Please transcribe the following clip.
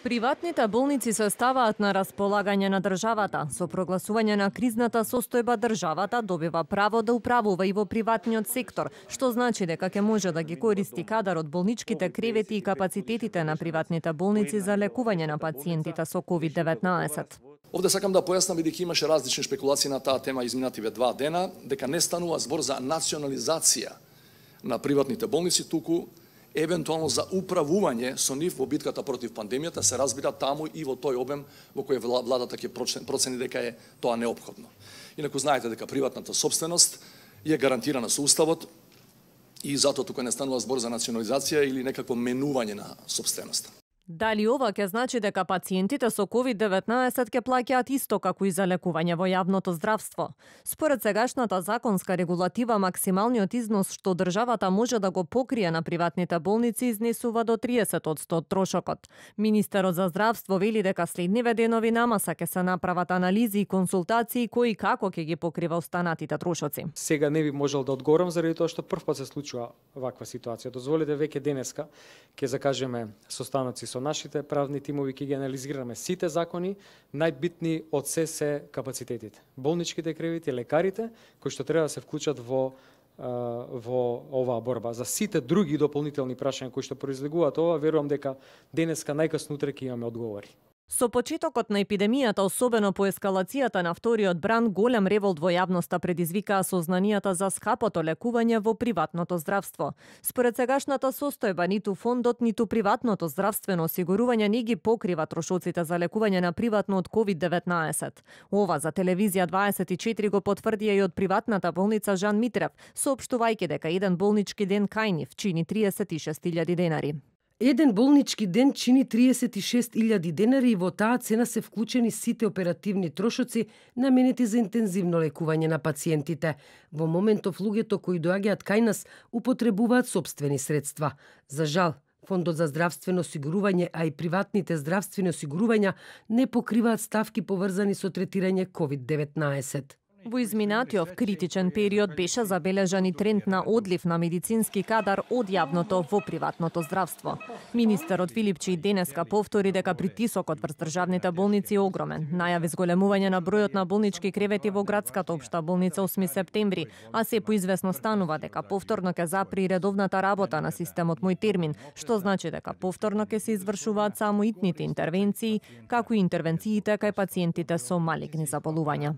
Приватните болници се ставаат на располагање на државата. Со прогласување на кризната состојба државата добива право да управува и во приватниот сектор, што значи дека ќе може да ги користи кадар од болничките кревети и капацитетите на приватните болници за лекување на пациентите со COVID-19. Овде сакам да појаснам, бидејќи имаше различни шпекулации на таа тема изминативе 2 дена, дека не станува збор за национализација на приватните болници, туку евентуално за управување со нив во битката против пандемијата, се разбира таму и во тој обем во кој владата ќе процени дека е тоа неопходно. Инаку знаете дека приватната собственост е гарантирана со Уставот и затоа тука не станува збор за национализација или некакво менување на собственоста. Дали ова ќе значи дека пациентите со COVID-19 ќе плаќаат исто како и за лекување во јавното здравство? Според сегашната законска регулатива, максималниот износ што државата може да го покрие на приватните болници изнесува до 30% од трошокот. Министерот за здравство вели дека следниве денови намаса ќе се направат анализи и консултации кои како ќе ги покрива останатите трошоци. Сега не би можел да одговорам заради тоа што првпат се случува ваква ситуација. Дозволете веќе денеска ќе закажеме состаноци со нашите правни тимови, ќе ги анализираме сите закони, најбитни од се капацитетите. Болничките кревети, лекарите, кои што треба да се вклучат во оваа борба. За сите други дополнителни прашања кои што произлегуваат ова, верувам дека денеска најкасно утре ќе имаме одговори. Со почетокот на епидемијата, особено по ескалацијата на вториот бран, голем револт во јавноста предизвикаа сознанијата за скапото лекување во приватното здравство. Според сегашната состојба, ниту фондот, ниту приватното здравствено осигурување не ги покрива трошоците за лекување на приватно од COVID-19. Ова за телевизија 24 го потврдија и од приватната болница Жан Митрев, соопштувајќи дека еден болнички ден кај нив чини 36.000 денари. Еден болнички ден чини 36.000 денари и во таа цена се вклучени сите оперативни трошоци наменети за интензивно лекување на пациентите. Во моментов луѓето кои доаѓаат кај нас употребуваат сопствени средства. За жал, Фондот за здравствено осигурување, а и приватните здравствени осигурувања не покриваат ставки поврзани со третирање COVID-19. Во изминатиот критичен период беше забележан и тренд на одлив на медицински кадар од јавното во приватното здравство. Министерот Филипчи денеска повтори дека притисокот врз државните болници е огромен. Најави зголемување на бројот на болнички кревети во градската општа болница 8 септември, а се поизвестно станува дека повторно ќе запри редовната работа на системот Мој термин, што значи дека повторно ќе се извршуваат само итните интервенции, како и интервенциите кај пациентите со малигни заболувања.